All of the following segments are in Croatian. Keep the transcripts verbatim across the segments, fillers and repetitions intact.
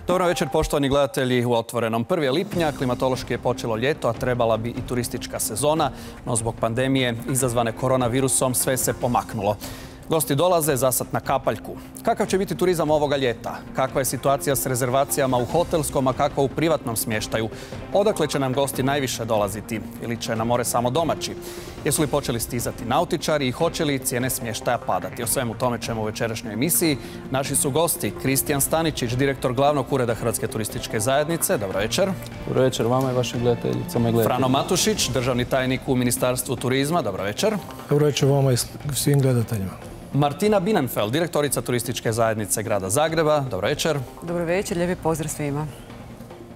Dobro večer, poštovani gledatelji u Otvorenom. prvi lipnja, klimatološki je počelo ljeto, a trebala bi i turistička sezona, no zbog pandemije izazvane koronavirusom sve se pomaknulo. Gosti dolaze zasad na kapaljku. Kakav će biti turizam ovoga ljeta? Kakva je situacija s rezervacijama u hotelskom, a kakva u privatnom smještaju? Odakle će nam gosti najviše dolaziti? Ili će na more samo domaći? Jesu li počeli stizati nautičari i hoće li cijene smještaja padati? O svemu tome ćemo u večerašnjoj emisiji. Naši su gosti Kristijan Staničić, direktor glavnog ureda Hrvatske turističke zajednice. Dobro večer. Dobro večer vama i vašim gledateljicama i gledateljima. Frano Matušić, državni tajnik u Ministarstvu turizma. Dobro večer. Dobro večer vama i svim gledateljima. Martina Bienenfeld, direktorica turističke zajednice grada Zagreba. Dobro večer. Dobro večer, lijepi pozdrav svima.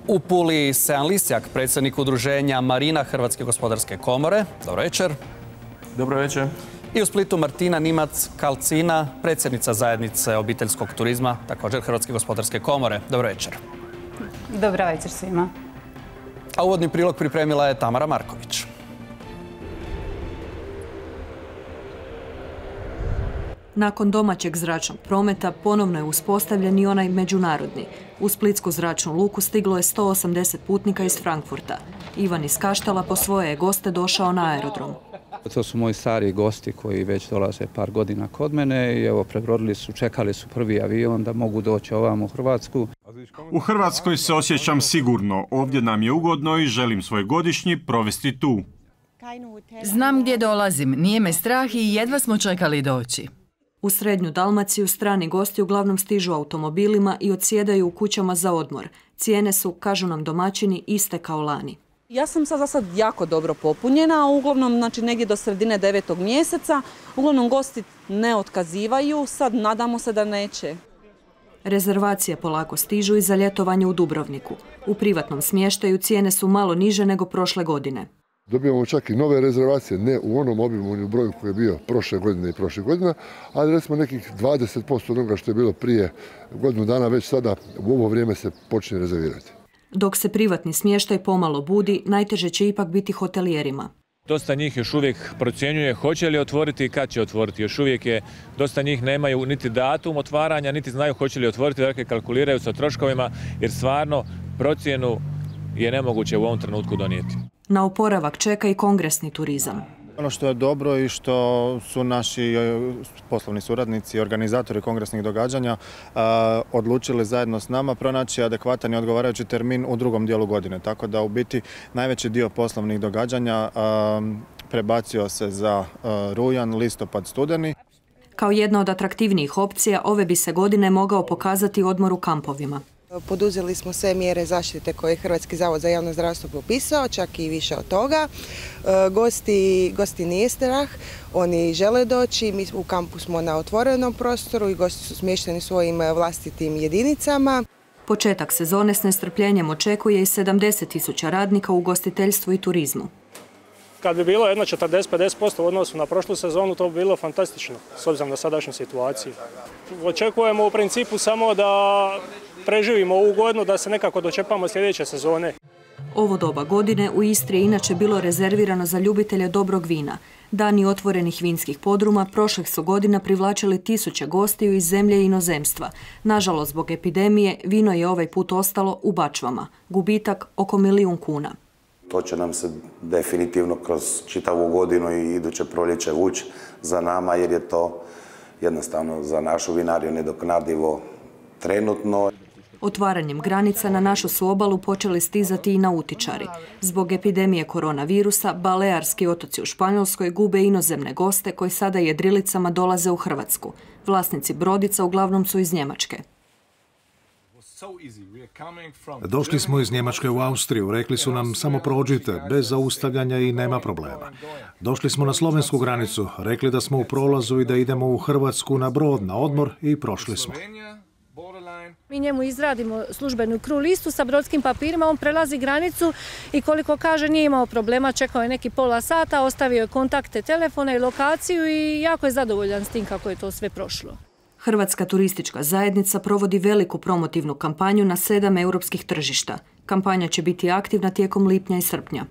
U Puli Sean Lisjak, predsjednik udruženja Marina Hrvatske gospodarske komore. Dobro večer. Dobro večer. I u Splitu Martina Nimac-Kalcina, predsjednica zajednice obiteljskog turizma, također Hrvatske gospodarske komore. Dobro večer. Dobro večer svima. A uvodni prilog pripremila je Tamara Marković. Nakon domaćeg zračnog prometa ponovno je uspostavljen i onaj međunarodni. U Splitsku zračnu luku stiglo je sto osamdeset putnika iz Frankfurta. Ivan iz Kaštela po svoje je goste došao na aerodrom. To su moji stari gosti koji već dolaze par godina kod mene i evo prebrodili su, čekali su prvi avion da mogu doći ovamo u Hrvatsku. U Hrvatskoj se osjećam sigurno, ovdje nam je ugodno i želim svoj godišnji provesti tu. Znam gdje dolazim, nije me strah i jedva smo čekali doći. U srednju Dalmaciju strani gosti uglavnom stižu automobilima i odsjedaju u kućama za odmor. Cijene su, kažu nam domaćini, iste kao lani. Ja sam sad za sad jako dobro popunjena, a uglavnom znači, negdje do sredine devetog mjeseca. Uglavnom gosti ne otkazivaju, sad nadamo se da neće. Rezervacije polako stižu i za ljetovanje u Dubrovniku. U privatnom smještaju cijene su malo niže nego prošle godine. Dobijamo čak i nove rezervacije, ne u onom obimu ni u broju koji je bio prošle godine i prošle godine, ali recimo nekih dvadeset posto onoga što je bilo prije godinu dana već sada u ovo vrijeme se počne rezervirati. Dok se privatni smještaj pomalo budi, najteže će ipak biti hotelijerima. Dosta njih još uvijek procjenjuje hoće li otvoriti i kad će otvoriti. Još uvijek je, dosta njih nemaju niti datum otvaranja, niti znaju hoće li otvoriti, dakle kalkuliraju sa troškovima jer stvarno procjenu je nemoguće u ovom trenutku donijeti. Na oporavak čeka i kongresni turizam. Ono što je dobro i što su naši poslovni suradnici i organizatori kongresnih događanja a, odlučili zajedno s nama pronaći adekvatan i odgovarajući termin u drugom dijelu godine. Tako da u biti najveći dio poslovnih događanja a, prebacio se za a, rujan, listopad, studeni. Kao jedna od atraktivnijih opcija, ove bi se godine mogao pokazati odmor u kampovima. Poduzeli smo sve mjere zaštite koje je Hrvatski zavod za javno zdravstvo propisao, čak i više od toga. Gosti, gosti nije strah, oni žele doći, mi u kampu smo na otvorenom prostoru i gosti su smješteni svojim vlastitim jedinicama. Početak sezone s nestrpljenjem očekuje i sedamdeset tisuća radnika u ugostiteljstvu i turizmu. Kad bi bilo jedno četrdeset do pedeset posto u odnosu na prošlu sezonu, to bi bilo fantastično, s obzirom na sadašnju situaciju. Očekujemo u principu samo da preživimo ovu godinu, da se nekako dočepamo sljedeće sezone. Ovo doba godine u Istri je inače bilo rezervirano za ljubitelje dobrog vina. Dani otvorenih vinskih podruma prošlih su godina privlačili tisuće gostiju iz zemlje i inozemstva. Nažalost, zbog epidemije, vino je ovaj put ostalo u bačvama. Gubitak oko milijun kuna. To će nam se definitivno kroz čitavu godinu i iduće proljeće vući za nama jer je to jednostavno za našu vinariju nedoknadivo trenutno. Otvaranjem granica na našu su obalu počeli stizati i nautičari. Zbog epidemije koronavirusa, Balearski otoci u Španjolskoj gube inozemne goste koji sada jedrilicama dolaze u Hrvatsku. Vlasnici brodica uglavnom su iz Njemačke. Došli smo iz Njemačke u Austriju, rekli su nam samo prođite, bez zaustavljanja i nema problema. Došli smo na slovensku granicu, rekli da smo u prolazu i da idemo u Hrvatsku na brod, na odmor i prošli smo. Mi njemu izradimo službenu kru listu sa brodskim papirima, on prelazi granicu i koliko kaže nije imao problema, čekao je neki pola sata, ostavio je kontakte telefona i lokaciju i jako je zadovoljan s tim kako je to sve prošlo. Hrvatska turistička zajednica provodi veliku promotivnu kampanju na sedam europskih tržišta. Kampanja će biti aktivna tijekom lipnja i srpnja.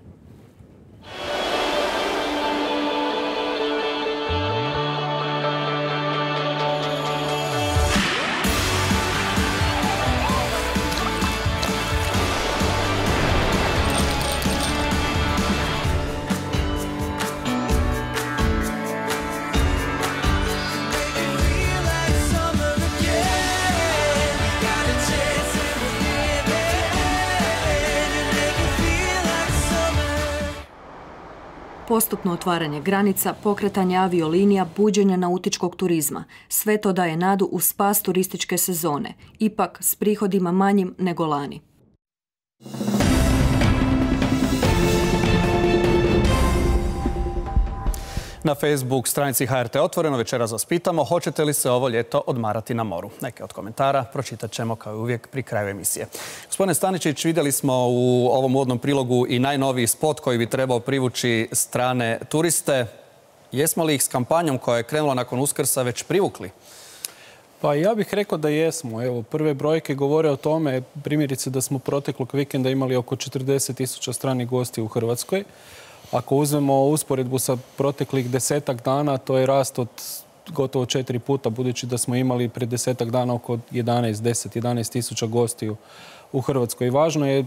Postupno otvaranje granica, pokretanje aviolinija, buđenje nautičkog turizma. Sve to daje nadu u spas turističke sezone, ipak s prihodima manjim nego lani. Na Facebook stranici H R T Otvoreno večeras vas pitamo hoćete li se ovo ljeto odmarati na moru. Neke od komentara pročitat ćemo kao i uvijek pri kraju emisije. Gospodine Staničić, vidjeli smo u ovom uvodnom prilogu i najnoviji spot koji bi trebao privući strane turiste. Jesmo li ih s kampanjom koja je krenula nakon Uskrsa već privukli? Pa ja bih rekao da jesmo. Evo, prve brojke govore o tome, primjerice da smo proteklog vikenda imali oko četrdeset tisuća stranih gosti u Hrvatskoj. Ako uzmemo usporedbu sa proteklih desetak dana, to je rast od gotovo četiri puta, budući da smo imali pred desetak dana oko jedanaest, deset, jedanaest tisuća gostiju u Hrvatskoj. I važno je,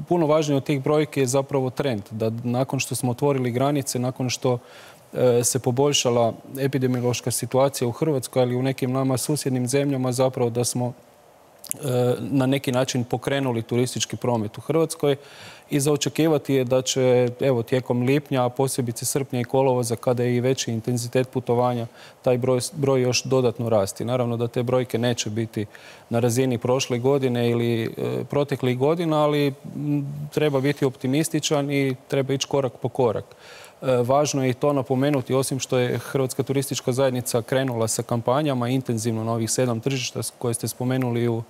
puno važnije od tih brojke je zapravo trend, da nakon što smo otvorili granice, nakon što se poboljšala epidemiološka situacija u Hrvatskoj, ali i u nekim nama susjednim zemljama, zapravo da smo na neki način pokrenuli turistički promet u Hrvatskoj i za očekivati je da će evo, tijekom lipnja, a posebice srpnja i kolovoza, kada je i veći intenzitet putovanja, taj broj, broj još dodatno rasti. Naravno da te brojke neće biti na razini prošle godine ili e, proteklih godina, ali m, treba biti optimističan i treba ići korak po korak. Važno je i to napomenuti, osim što je Hrvatska turistička zajednica krenula sa kampanjama intenzivno na ovih sedam tržišta koje ste spomenuli u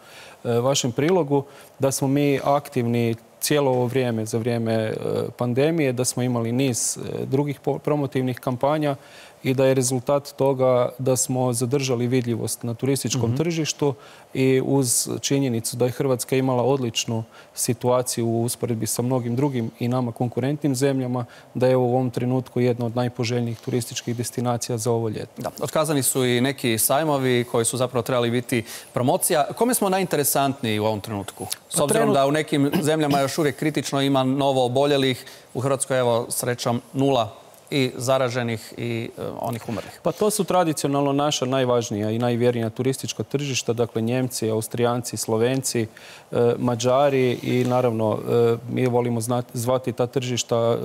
vašem prilogu, da smo mi aktivni cijelo ovo vrijeme, za vrijeme pandemije, da smo imali niz drugih promotivnih kampanja i da je rezultat toga da smo zadržali vidljivost na turističkom mm-hmm. tržištu i uz činjenicu da je Hrvatska imala odličnu situaciju u usporedbi sa mnogim drugim i nama konkurentnim zemljama, da je u ovom trenutku jedna od najpoželjnijih turističkih destinacija za ovo ljeto. Da, otkazani su i neki sajmovi koji su zapravo trebali biti promocija. Kome smo najinteresantniji u ovom trenutku? S obzirom da u nekim zemljama još uvijek kritično ima novo oboljelih, u Hrvatskoj evo srećom nula i zaraženih i e, onih umrlih. Pa to su tradicionalno naša najvažnija i najvjernija turistička tržišta, dakle Njemci, Austrijanci, Slovenci, e, Mađari i naravno e, mi volimo znati, zvati ta tržišta e,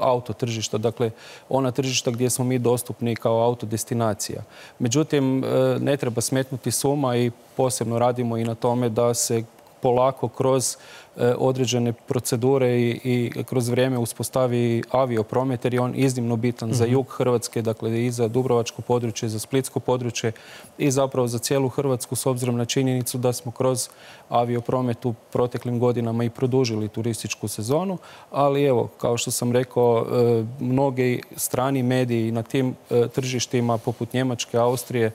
auto tržišta, dakle ona tržišta gdje smo mi dostupni kao autodestinacija. Međutim, e, ne treba smetnuti s uma i posebno radimo i na tome da se polako kroz određene procedure i, i kroz vrijeme uspostavi aviopromet, jer je on iznimno bitan mm-hmm. za jug Hrvatske, dakle i za Dubrovačko područje, za Splitsko područje i zapravo za cijelu Hrvatsku, s obzirom na činjenicu da smo kroz aviopromet u proteklim godinama i produžili turističku sezonu, ali evo, kao što sam rekao, mnogi strani mediji na tim tržištima poput Njemačke, Austrije,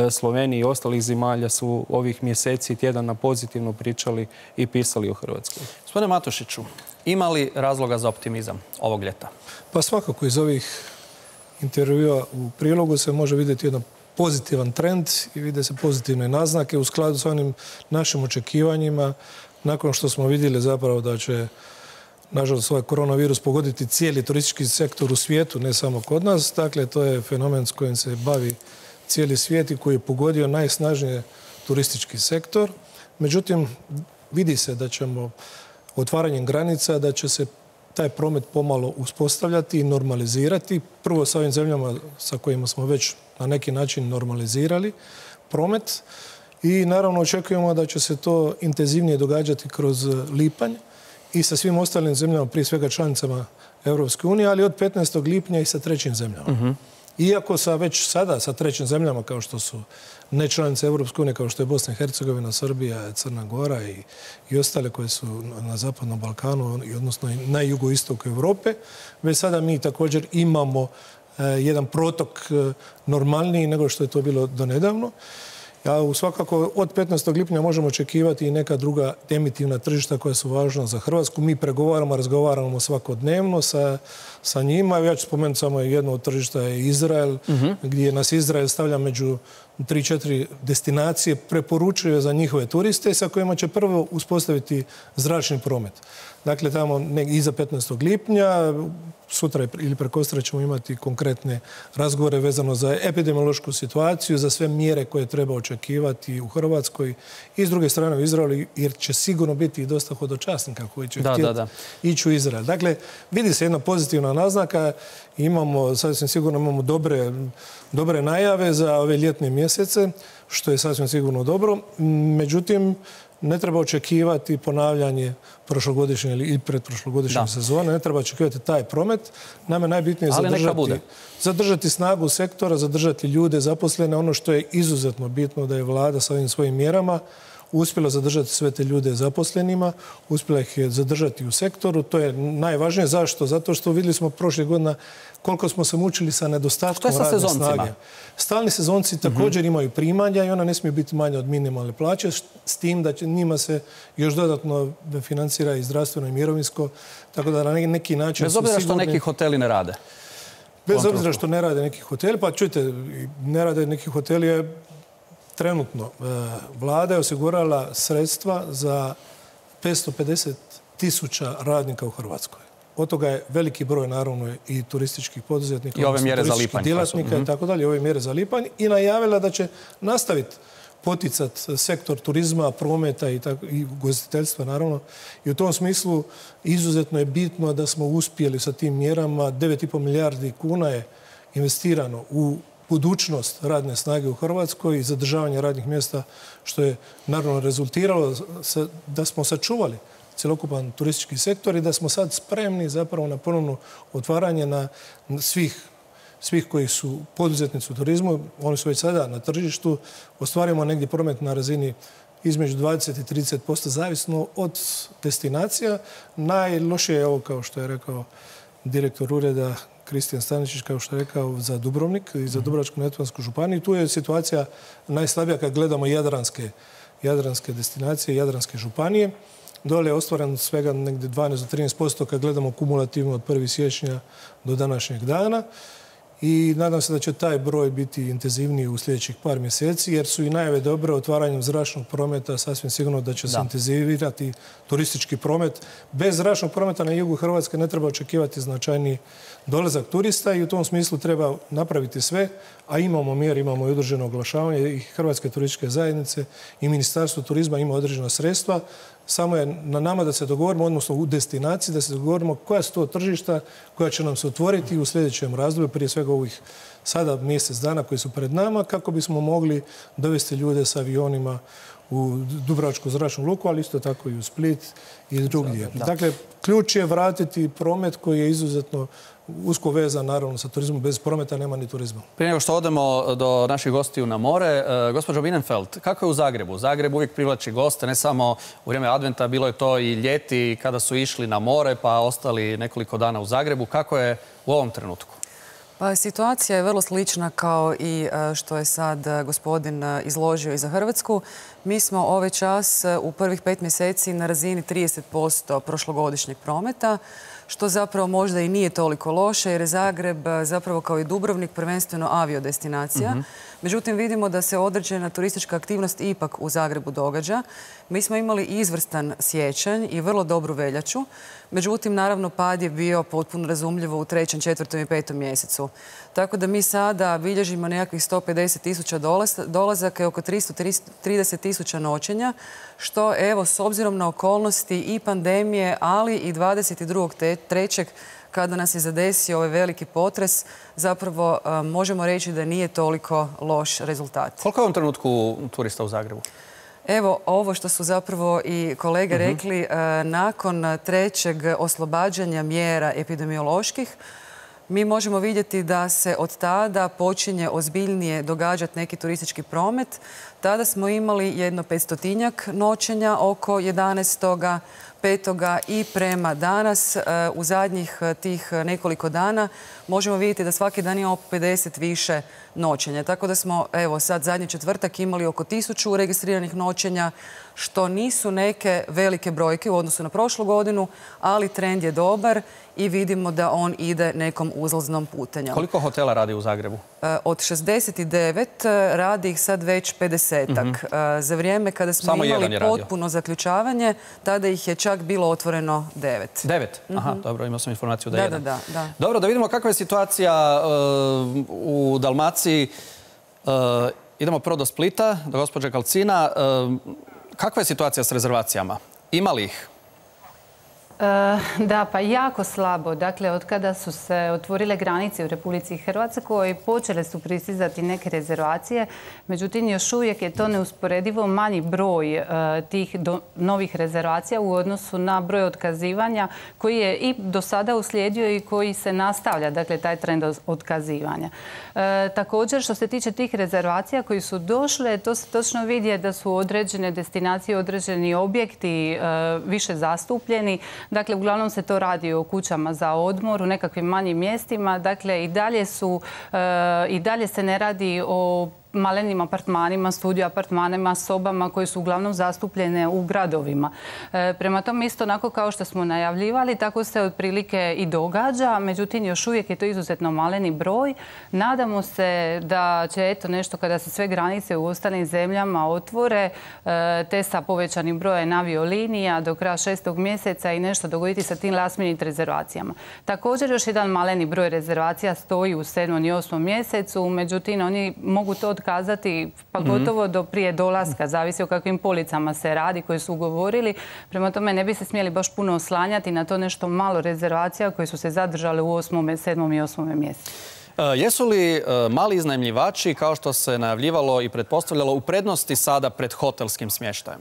Slovenije i ostalih zemalja su ovih mjeseci i tjedana pozitivno pričali i pisali o Hrvatskoj. Gospodine Matošiću, ima li razloga za optimizam ovog ljeta? Pa svakako iz ovih intervjua u prilogu se može vidjeti jedan pozitivan trend i vide se pozitivne naznake u skladu s onim našim očekivanjima. Nakon što smo vidjeli zapravo da će, nažalost, ovaj koronavirus pogoditi cijeli turistički sektor u svijetu, ne samo kod nas. Dakle, to je fenomen s kojim se bavi cijeli svijet i koji je pogodio najsnažnije turistički sektor. Međutim, vidi se da ćemo otvaranjem granica, da će se taj promet pomalo uspostavljati i normalizirati. Prvo sa ovim zemljama sa kojima smo već na neki način normalizirali promet i naravno očekujemo da će se to intenzivnije događati kroz lipanj i sa svim ostalim zemljama, prije svega članicama Europske unije, ali od petnaestog lipnja i sa trećim zemljama. Uh-huh. Iako sa već sada sa trećim zemljama kao što su nečlanice Europske unije, kao što je Bosna i Hercegovina, Srbija, Crna Gora i, i ostale koje su na Zapadnom Balkanu, odnosno na jugoistoku Europe, već sada mi također imamo eh, jedan protok eh, normalniji nego što je to bilo donedavno. Ja svakako od petnaestog lipnja možemo očekivati i neka druga emitivna tržišta koja su važna za Hrvatsku. Mi pregovaramo, razgovaramo svakodnevno sa, sa njima. Ja ću spomenuti samo jedno od tržišta je Izrael, uh-huh. gdje nas Izrael stavlja među tri četiri destinacije, preporučuje za njihove turiste sa kojima će prvo uspostaviti zračni promet. Dakle, tamo iza petnaestog lipnja, sutra ili prekosutra ćemo imati konkretne razgovore vezano za epidemiološku situaciju, za sve mjere koje treba očekivati u Hrvatskoj i s druge strane u Izraelu, jer će sigurno biti i dosta hodočasnika koji će htjeti ići u Izrael. Dakle, vidi se jedna pozitivna naznaka. Imamo, sasvim sigurno imamo dobre, dobre najave za ove ljetne mjesece, što je sasvim sigurno dobro. Međutim, ne treba očekivati ponavljanje prošlogodišnje ili predprošlogodišnje sezone, ne treba očekivati taj promet. Nama je najbitnije zadržati, zadržati snagu sektora, zadržati ljude zaposlene. Ono što je izuzetno bitno da je vlada sa ovim svojim mjerama uspjela zadržati sve te ljude zaposlenima, uspjela ih je zadržati u sektoru. To je najvažnije. Zašto? Zato što vidjeli smo prošle godine koliko smo se mučili sa nedostatkom radne snage. Stalni sezonci također imaju primanja i ona ne smije biti manja od minimalne plaće, s tim da će njima se još dodatno financira i zdravstveno i mirovinsko, tako da na neki način... Bez obzira što neki hoteli ne rade. Bez obzira što ne rade neki hoteli, pa čujte, ne rade neki hoteli je trenutno. Vlada je osigurala sredstva za petsto pedeset tisuća radnika u Hrvatskoj. Od toga je veliki broj, naravno, i turističkih poduzetnika, i ove mjere za lipanj, djelatnika i tako dalje, ove mjere za lipanj, i najavila da će nastaviti poticati sektor turizma, prometa i, tako, i ugostiteljstva, naravno. I u tom smislu izuzetno je bitno da smo uspjeli sa tim mjerama. devet i pol milijardi kuna je investirano u budućnost radne snage u Hrvatskoj i zadržavanje radnih mjesta, što je naravno rezultiralo da smo sačuvali cjelokupan turistički sektor i da smo sad spremni zapravo na ponovno otvaranje na svih, svih koji su poduzetnici u turizmu. Oni su već sada na tržištu. Ostvarimo negdje promet na razini između dvadeset i trideset posto zavisno od destinacija. Najlošije je ovo, kao što je rekao direktor ureda Kristijan Staničić, kao što je rekao, za Dubrovnik i za Dubrovačko-neretvansku županiju. Tu je situacija najslabija kad gledamo jadranske, jadranske destinacije, jadranske županije. Dole je ostvaren svega negdje dvanaest do trinaest posto kad gledamo kumulativno od prvog siječnja do današnjeg dana. I nadam se da će taj broj biti intenzivniji u sljedećih par mjeseci, jer su i najave dobre otvaranjem zračnog prometa, sasvim sigurno da će se intenzivirati turistički promet. Bez zračnog prometa na jugu Hrvatske ne treba očekivati značajni dolazak turista i u tom smislu treba napraviti sve, a imamo mjere, imamo i određeno oglašavanje i Hrvatske turističke zajednice i Ministarstvo turizma ima određena sredstva. Samo je na nama da se dogovorimo, odnosno u destinaciji, da se dogovorimo koja su to tržišta koja će nam se otvoriti u sljedećem razdoblju, prije svega ovih sada mjesec dana koji su pred nama, kako bismo mogli dovesti ljude sa avionima u Dubrovačku zračnu luku, ali isto tako i u Split i drugdje. Dakle, ključ je vratiti promet koji je izuzetno usko vezan, naravno, sa turizmom. Bez prometa nema ni turizma. Prije nego što odemo do naših gostiju na more, gospođo Bienenfeld, kako je u Zagrebu? Zagreb uvijek privlači goste, ne samo u vrijeme adventa, bilo je to i ljeti kada su išli na more pa ostali nekoliko dana u Zagrebu. Kako je u ovom trenutku? Pa situacija je vrlo slična kao i što je sad gospodin izložio i za Hrvatsku. Mi smo ovaj čas u prvih pet mjeseci na razini trideset posto prošlogodišnjeg prometa, što zapravo možda i nije toliko loše, jer je Zagreb zapravo kao i Dubrovnik prvenstveno aviodestinacija. Mm-hmm. Međutim, vidimo da se određena turistička aktivnost ipak u Zagrebu događa. Mi smo imali izvrstan siječanj i vrlo dobru veljaču. Međutim, naravno, pad je bio potpuno razumljivo u trećem, četvrtom i petom mjesecu. Tako da mi sada bilježimo nekakvih sto pedeset tisuća dolazaka i oko tristo trideset tisuća noćenja, što, evo, s obzirom na okolnosti i pandemije, ali i dvadeset drugog trećeg kada nas je zadesio ovaj veliki potres, zapravo možemo reći da nije toliko loš rezultat. Koliko je u ovom trenutku turista u Zagrebu? Evo, ovo što su zapravo i kolege rekli, nakon trećeg oslobađanja mjera epidemioloških, mi možemo vidjeti da se od tada počinje ozbiljnije događati neki turistički promet. Tada smo imali jedno petstotinjak noćenja oko jedanaestog petoga i prema danas u zadnjih tih nekoliko dana možemo vidjeti da svaki dan imamo pedeset više noćenja. Tako da smo, evo, sad zadnji četvrtak imali oko tisuću registriranih noćenja, što nisu neke velike brojke u odnosu na prošlu godinu, ali trend je dobar i vidimo da on ide nekom uzlaznom putanjom. Koliko hotela radi u Zagrebu? Od šezdeset devet radi ih sad već pedesetak. Mm-hmm. Za vrijeme kada smo Samo imali potpuno zaključavanje, tada ih je čak čak bilo otvoreno devet. Devet? Aha, dobro, imao sam informaciju da je jedan. Da, da, da. Dobro, da vidimo kakva je situacija u Dalmaciji. Idemo prvo do Splita, do gospođe Kalcina. Kakva je situacija s rezervacijama? Ima li ih? Da, pa jako slabo. Dakle, od kada su se otvorile granice u Republici Hrvatskoj, počele su pristizati neke rezervacije. Međutim, još uvijek je to neusporedivo manji broj tih novih rezervacija u odnosu na broj otkazivanja koji je i do sada uslijedio i koji se nastavlja, dakle, taj trend otkazivanja. Također, što se tiče tih rezervacija koji su došle, to se točno vidi da su određene destinacije, određeni objekti više zastupljeni. Dakle, uglavnom se to radi o kućama za odmor, u nekakvim manjim mjestima. Dakle, i dalje su, i dalje se ne radi o malenim apartmanima, studio apartmanima, sobama koje su uglavnom zastupljene u gradovima. Prema tome, isto onako kao što smo najavljivali, tako se otprilike i događa. Međutim, još uvijek je to izuzetno maleni broj. Nadamo se da će eto nešto kada se sve granice u ostalim zemljama otvore, te sa povećanim brojem aviolinija do kraja šestog mjeseca i nešto dogoditi sa tim last minute rezervacijama. Također još jedan maleni broj rezervacija stoji u sedmom i osmom mjesecu, međutim oni mogu to kazati pa gotovo do prije dolaska, zavisi o kakvim policama se radi koje su ugovorili. Prema tome ne bi se smjeli baš puno oslanjati na to nešto malo rezervacija koje su se zadržale u osmom, sedmom i osmom mjesecu. Jesu li mali iznajmljivači, kao što se najavljivalo i pretpostavljalo, u prednosti sada pred hotelskim smještajem?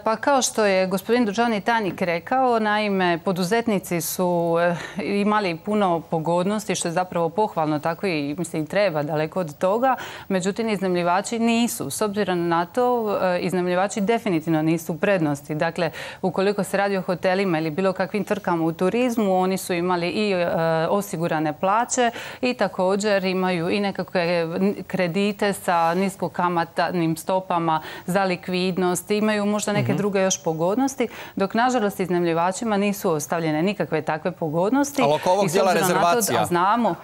Pa kao što je gospodin državni tajnik rekao, naime, poduzetnici su imali puno pogodnosti, što je zapravo pohvalno, tako i mislim treba daleko od toga. Međutim, iznajmljivači nisu. S obzirom na to, iznajmljivači definitivno nisu u prednosti. Dakle, ukoliko se radi o hotelima ili bilo kakvim tvrtkama u turizmu, oni su imali i osigurane plaće i također imaju i nekakve kredite sa niskokamatnim stopama za likvidnost, imaju možda neke druge još pogodnosti, dok nažalost iznajmljivačima nisu ostavljene nikakve takve pogodnosti. Ali oko ovog dijela rezervacija? Znamo.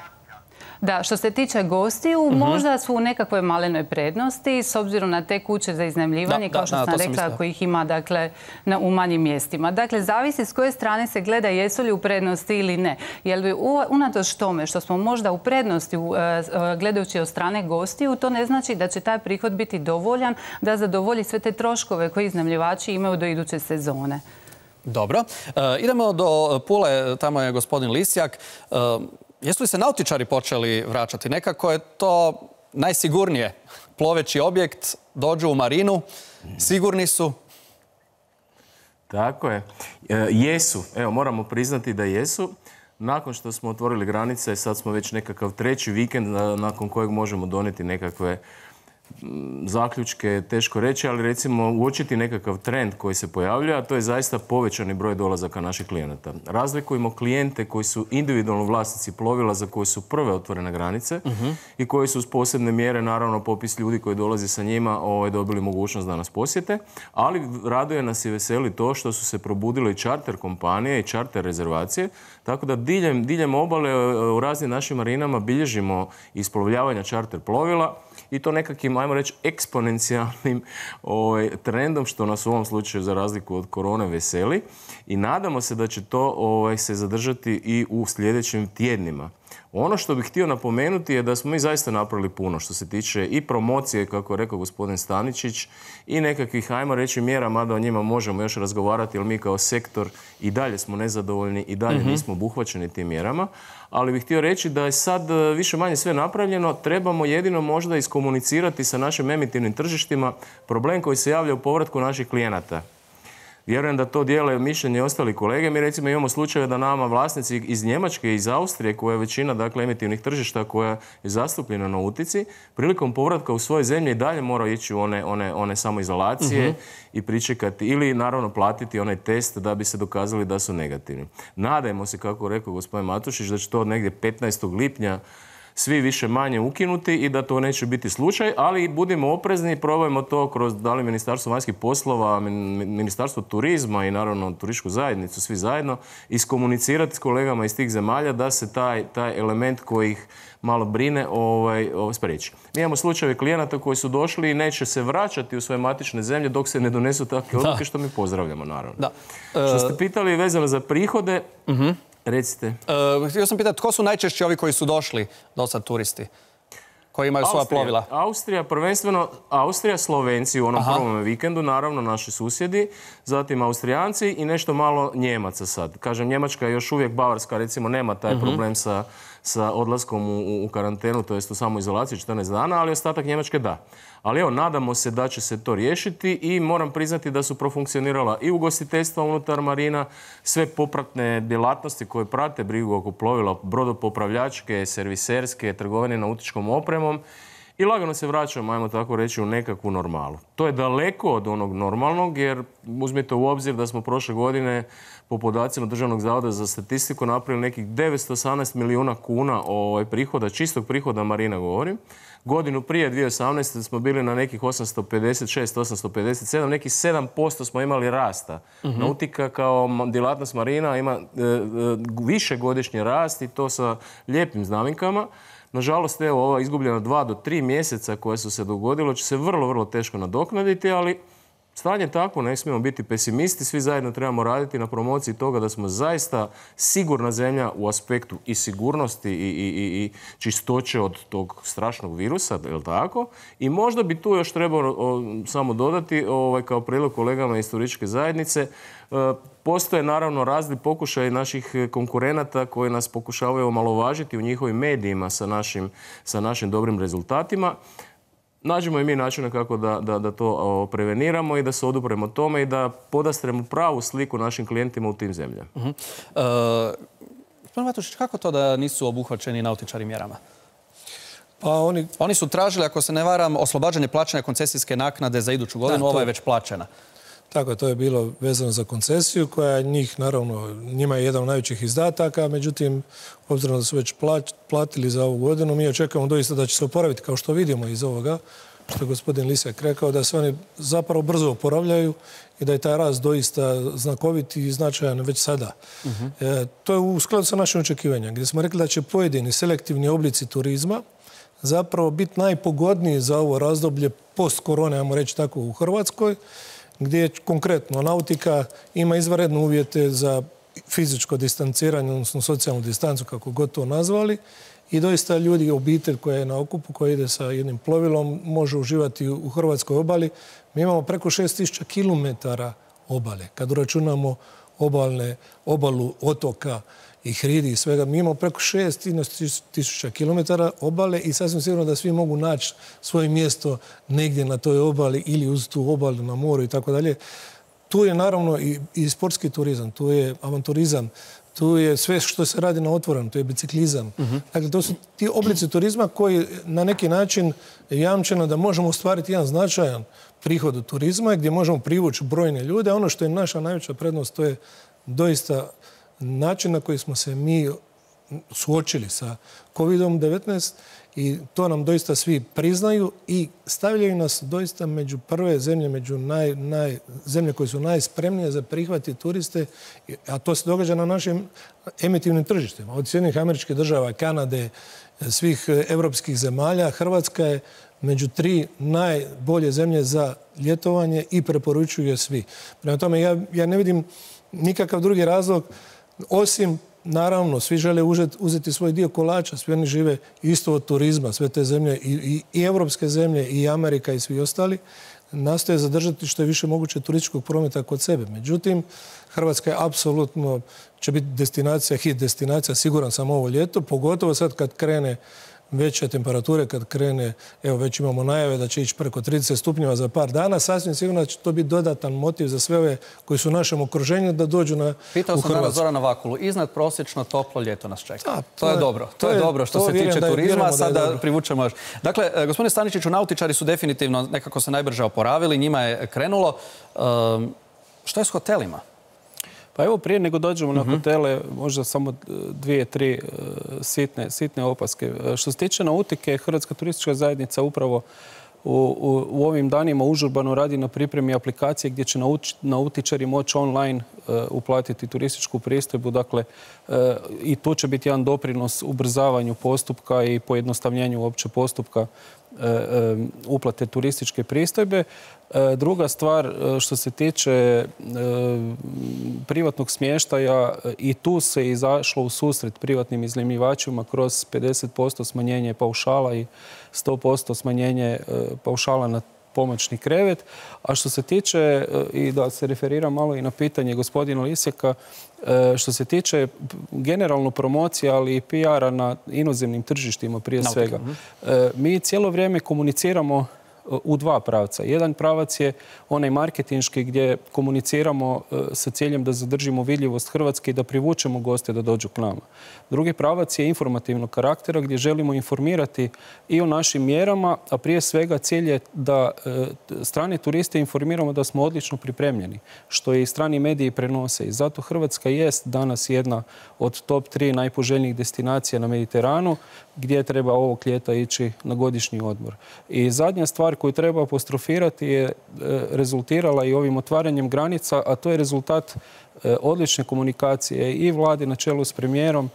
Da, što se tiče gostiju, možda su u nekakvoj malenoj prednosti s obzirom na te kuće za iznajmljivanje, kao što sam rekla, ako ih ima dakle, u manjim mjestima. Dakle, zavisi s koje strane se gleda jesu li u prednosti ili ne. Jer unatoč tome što smo možda u prednosti gledajući od strane gostiju, to ne znači da će taj prihod biti dovoljan da zadovolji sve te troškove koje iznajmljivači imaju do iduće sezone. Dobro. Idemo do Pule, tamo je gospodin Lisjak. Jesu li se nautičari počeli vraćati? Nekako je to najsigurnije. Ploveći objekt, dođu u marinu, sigurni su. Tako je. Jesu. Evo, moramo priznati da jesu. Nakon što smo otvorili granice, sad smo već nekakav treći vikend nakon kojeg možemo donijeti nekakve zaključke, teško reći, ali recimo uočiti nekakav trend koji se pojavlja, a to je zaista povećani broj dolazaka naših klijenata. Razlikujemo klijente koji su individualno vlasnici plovila za koje su prve otvorene granice uh-huh. i koji su uz posebne mjere, naravno popis ljudi koji dolazi sa njima, ovaj, dobili mogućnost da nas posjete, ali raduje nas i veseli to što su se probudile i čarter kompanije i čarter rezervacije, tako da diljem, diljem obale u raznim našim marinama bilježimo isplovljavanja čarter plovila i to nekakvim, ajmo reći, eksponencijalnim ovaj, trendom, što nas u ovom slučaju za razliku od korone veseli. I nadamo se da će to ovaj, se zadržati i u sljedećim tjednima. Ono što bih htio napomenuti je da smo mi zaista napravili puno što se tiče i promocije, kako je rekao gospodin Staničić, i nekakvih, ajmo reći, mjera, mada o njima možemo još razgovarati, jer mi kao sektor i dalje smo nezadovoljni i dalje mm-hmm. nismo obuhvaćeni tim mjerama. Ali bih htio reći da je sad više manje sve napravljeno, trebamo jedino možda iskomunicirati sa našim emitivnim tržištima problem koji se javlja u povratku naših klijenata. Vjerujem da to dijele mišljenje i ostali kolege. Mi recimo imamo slučajeve da nama vlasnici iz Njemačke i iz Austrije, koja je većina dakle, emitivnih tržišta koja je zastupljena na utici, prilikom povratka u svoje zemlje i dalje mora ići u one, one, one samoizolacije uh-huh. i pričekati ili naravno platiti onaj test da bi se dokazali da su negativni. Nadajmo se, kako rekao gospodin Matušić, da će to negdje petnaestog lipnja svi više manje ukinuti i da to neće biti slučaj, ali budimo oprezni i probajmo to kroz da li Ministarstvo vanjskih poslova, Ministarstvo turizma i naravno turističku zajednicu, svi zajedno, iskomunicirati s kolegama iz tih zemalja da se taj, taj element koji ih malo brine ovaj, ovaj, spriječi. Mi imamo slučajeve klijenata koji su došli i neće se vraćati u svoje matične zemlje dok se ne donesu takve odluke, što mi pozdravljamo naravno. Da. Što ste pitali vezano za prihode, uh-huh. recite. Uh, htio sam pitati, tko su najčešće ovi koji su došli do sad turisti? Koji imaju svoja Austrija, plovila? Austrija, prvenstveno Austrija, Slovenci u onom Aha. prvom vikendu, naravno naši susjedi, zatim Austrijanci i nešto malo Njemaca sad. Kažem, Njemačka je još uvijek, Bavarska recimo nema taj uh-huh. problem sa, sa odlaskom u, u karantenu, to jest u samoizolaciju četrnaest dana, ali ostatak Njemačke da. Ali evo, nadamo se da će se to riješiti i moram priznati da su profunkcionirala i ugostiteljstva unutar marina, sve popratne djelatnosti koje prate brigu oko plovila, brodopopravljačke, serviserske, trgovine nautičkom opremom i lagano se vraćamo, ajmo tako reći, u nekakvu normalu. To je daleko od onog normalnog jer uzmite u obzir da smo prošle godine po podacima Državnog zavoda za statistiku napravili nekih devetsto osamnaest milijuna kuna ovaj prihoda, čistog prihoda marina govorim. Godinu prije dvije tisuće osamnaeste smo bili na nekih osamsto pedeset šest, osamsto pedeset sedam, nekih sedam posto smo imali rasta. Uh-huh. Nautika kao djelatnost marina ima e, e, više godišnji rast i to sa lijepim znamenkama. Nažalost, evo, ova izgubljena dva do tri mjeseca koje su se dogodilo će se vrlo, vrlo teško nadoknaditi, ali stanje je takvo, ne smijemo biti pesimisti, svi zajedno trebamo raditi na promociji toga da smo zaista sigurna zemlja u aspektu i sigurnosti i, i, i, i čistoće od tog strašnog virusa, je li tako? I možda bi tu još trebalo o, samo dodati, ovaj, kao prilog kolegama iz turističke zajednice, e, postoje naravno razni pokušaj naših konkurenata koji nas pokušavaju omalovažiti u njihovim medijima sa našim, sa našim dobrim rezultatima. Nađemo i mi načine kako da, da, da to o, preveniramo i da se odupremo tome i da podastremo pravu sliku našim klijentima u tim zemljama. Uh-huh. Uh, Gospodin Matušić, kako to da nisu obuhvaćeni nautičari mjerama? Pa oni... oni su tražili, ako se ne varam, oslobađanje plaćanja koncesijske naknade za iduću godinu, da, ova je već plaćena. Tako je, to je bilo vezano za koncesiju koja njih, naravno, njima je jedan od najvećih izdataka, međutim, obzirom da su već platili za ovu godinu, mi očekujemo doista da će se oporaviti, kao što vidimo iz ovoga, što je gospodin Lisek rekao, da se oni zapravo brzo oporavljaju i da je taj rast doista znakovit i značajan već sada. Uh-huh. E, to je u skladu sa našim očekivanjem, gdje smo rekli da će pojedini selektivni oblici turizma zapravo biti najpogodniji za ovo razdoblje post-korone, ajmo reći tako, u Hrvatskoj, gdje konkretno nautika ima izvanredne uvjete za fizičko distanciranje, odnosno socijalnu distancu, kako god to nazvali. I doista ljudi, obitelj koja je na okupu, koja ide sa jednim plovilom, može uživati u hrvatskoj obali. Mi imamo preko šest tisuća kilometara obale. Kad uračunamo obalne, obalu otoka i hridi i svega, mi imamo preko šest tisuća kilometara obale i sasvim sigurno da svi mogu naći svoje mjesto negdje na toj obali ili uz tu obalu na moru i tako dalje. Tu je naravno i, i sportski turizam, tu je avanturizam, tu je sve što se radi na otvorenom, tu je biciklizam. Uh-huh. Dakle, to su ti oblici turizma koji na neki način jamčeno da možemo ostvariti jedan značajan prihod od turizma gdje možemo privući brojne ljude. Ono što je naša najveća prednost, to je doista način na koji smo se mi suočili sa kovidom devetnaest i to nam doista svi priznaju i stavljaju nas doista među prve zemlje, među naj, naj, zemlje koje su najspremnije za prihvati turiste, a to se događa na našim emitivnim tržištima. Od Sjedinjenih Američkih Država, Kanade, svih evropskih zemalja, Hrvatska je među tri najbolje zemlje za ljetovanje i preporučuju je svi. Prema tome, ja, ja ne vidim nikakav drugi razlog osim, naravno, svi žele uzeti svoj dio kolača, svi oni žive isto od turizma, sve te zemlje, i, i, i evropske zemlje, i Amerika i svi ostali, nastoje zadržati što je više moguće turističkog prometa kod sebe. Međutim, Hrvatska je apsolutno, će biti destinacija, hit destinacija, siguran sam ovo ljeto, pogotovo sad kad krene veće temperature, kad krene, evo već imamo najave da će ići preko trideset stupnjeva za par dana, sasvim sigurno će to biti dodatan motiv za sve ove koji su u našem okruženju da dođu na, u Hrvatsku. Pitao sam danas Zorana Vakulu, iznad prosječno toplo ljeto nas čeka. Da, to, to je dobro. To, to je dobro što se tiče turizma, a sada privučemo još. Dakle, gospodine Staničiću, nautičari su definitivno nekako se najbrže oporavili, njima je krenulo. Um, što je s hotelima? Pa evo, prije nego dođemo na hotele, možda samo dvije, tri sitne, sitne opaske. Što se tiče nautike, Hrvatska turistička zajednica upravo u, u, u ovim danima užurbano radi na pripremi aplikacije gdje će nauč, nautičari moći online uh, uplatiti turističku pristojbu. Dakle, uh, i tu će biti jedan doprinos ubrzavanju postupka i pojednostavljenju uopće postupka uh, um, uplate turističke pristojbe. Druga stvar, što se tiče privatnog smještaja, i tu se izašlo u susret privatnim iznajmljivačima kroz pedeset posto smanjenje paušala i sto posto smanjenje paušala na pomoćni krevet. A što se tiče, i da se referiram malo i na pitanje gospodina Lisjaka, što se tiče generalno promocije, ali i P R-a na inozemnim tržištima prije svega, mi cijelo vrijeme komuniciramo u dva pravca. Jedan pravac je onaj marketinški gdje komuniciramo sa ciljem da zadržimo vidljivost Hrvatske i da privučemo goste da dođu k nama. Drugi pravac je informativnog karaktera gdje želimo informirati i o našim mjerama, a prije svega cilj je da strane turiste informiramo da smo odlično pripremljeni, što i strani mediji prenose. I zato Hrvatska jest danas jedna od top tri najpoželjnijih destinacija na Mediteranu, gdje treba ovog ljeta ići na godišnji odmor. I zadnja stvar koju treba apostrofirati je rezultirala i ovim otvaranjem granica, a to je rezultat odlične komunikacije i vlade na čelu s premijerom,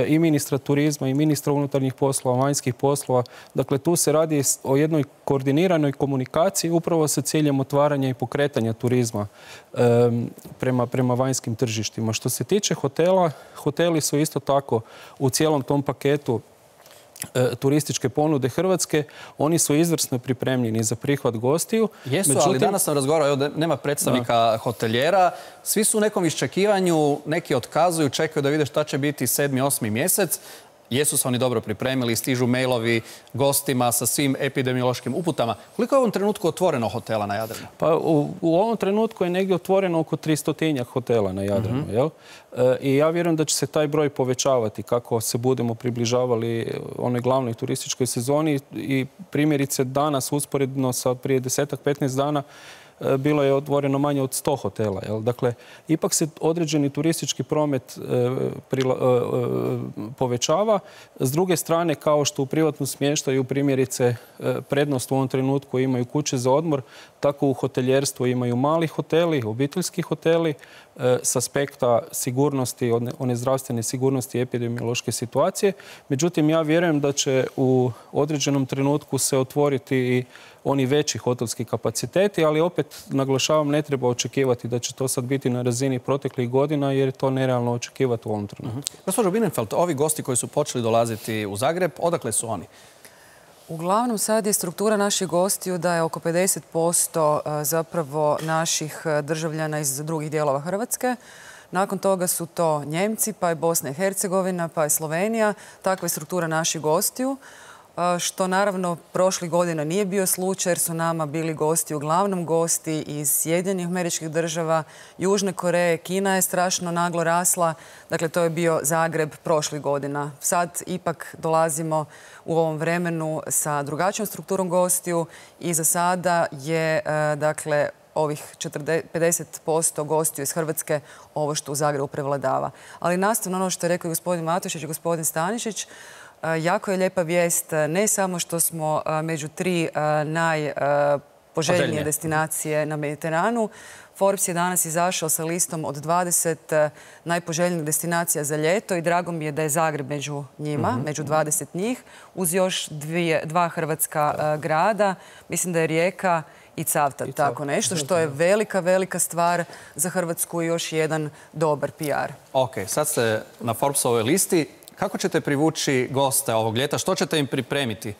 i ministra turizma, i ministra unutarnjih poslova, vanjskih poslova. Dakle, tu se radi o jednoj koordiniranoj komunikaciji upravo sa ciljem otvaranja i pokretanja turizma um, prema, prema vanjskim tržištima. Što se tiče hotela, hoteli su isto tako u cijelom tom paketu turističke ponude Hrvatske, oni su izvrsno pripremljeni za prihvat gostiju. Jesu, međutim, ali danas sam razgovarao, evo, nema predstavnika da. hotelijera, svi su u nekom iščekivanju, neki otkazuju, čekaju da vide šta će biti sedmi, osmi mjesec. Jesu se oni dobro pripremili, stižu mailovi gostima sa svim epidemiološkim uputama. Koliko je u ovom trenutku otvoreno hotela na Jadranu? Pa u, u ovom trenutku je negdje otvoreno oko tristotinjak hotela na Jadranu. Mm-hmm. Jel? E, I ja vjerujem da će se taj broj povećavati kako se budemo približavali onoj glavnoj turističkoj sezoni. I primjerice danas usporedno sa prije desetak, petnaest dana bilo je otvoreno manje od sto hotela. Jel? Dakle, ipak se određeni turistički promet e, prila, e, povećava. S druge strane, kao što u privatnom smještaju primjerice e, prednost u ovom trenutku imaju kuće za odmor, tako u hoteljerstvu imaju mali hoteli, obiteljski hoteli, e, s aspekta sigurnosti, one, one zdravstvene sigurnosti i epidemiološke situacije. Međutim, ja vjerujem da će u određenom trenutku se otvoriti i oni veći hotelski kapaciteti, ali opet, naglašavam, ne treba očekivati da će to sad biti na razini proteklih godina, jer je to nerealno očekivati u ovom trenutku. Uh-huh. Gospođo Bienenfeld, ovi gosti koji su počeli dolaziti u Zagreb, odakle su oni? Uglavnom, sad je struktura naših gostiju da je oko pedeset posto zapravo naših državljana iz drugih dijelova Hrvatske. Nakon toga su to Njemci, pa je Bosna i Hercegovina, pa je Slovenija. Takva je struktura naših gostiju, što naravno prošlih godina nije bio slučaj jer su nama bili gosti, uglavnom gosti iz Sjedinjenih Američkih Država, Južne Koreje, Kina je strašno naglo rasla. Dakle, to je bio Zagreb prošlih godina. Sad ipak dolazimo u ovom vremenu sa drugačijom strukturom gostiju i za sada je, dakle, ovih pedeset posto gostiju iz Hrvatske ovo što u Zagrebu prevladava. Ali nastavno ono što je rekao gospodin Matušić i gospodin Stanišić, jako je lijepa vijest ne samo što smo među tri najpoželjnije destinacije na Mediteranu. Forbes je danas izašao sa listom od dvadeset najpoželjnijih destinacija za ljeto i drago mi je da je Zagreb među njima, mm-hmm. među dvadeset njih, uz još dvije, dva hrvatska grada. Mislim da je Rijeka i Cavtat, I tako nešto, što je velika, velika stvar za Hrvatsku i još jedan dobar P R. Ok, sad ste na Forbesovoj listi. Kako ćete privući goste ovog ljeta? Što ćete im pripremiti?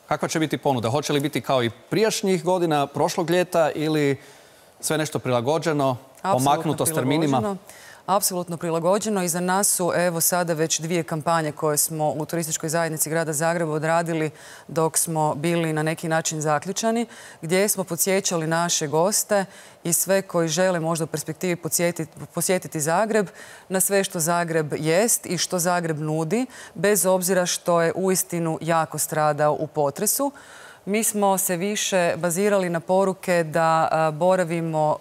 Kakva će biti ponuda? Hoće li biti kao i prijašnjih godina, prošlog ljeta ili sve nešto prilagođeno, omaknuto s terminima? Apsolutno prilagođeno. I za nas su evo sada već dvije kampanje koje smo u turističkoj zajednici grada Zagreba odradili dok smo bili na neki način zaključani, gdje smo podsjećali naše goste i sve koji žele možda u perspektivi posjetiti Zagreb na sve što Zagreb jest i što Zagreb nudi, bez obzira što je uistinu jako stradao u potresu. Mi smo se više bazirali na poruke da boravimo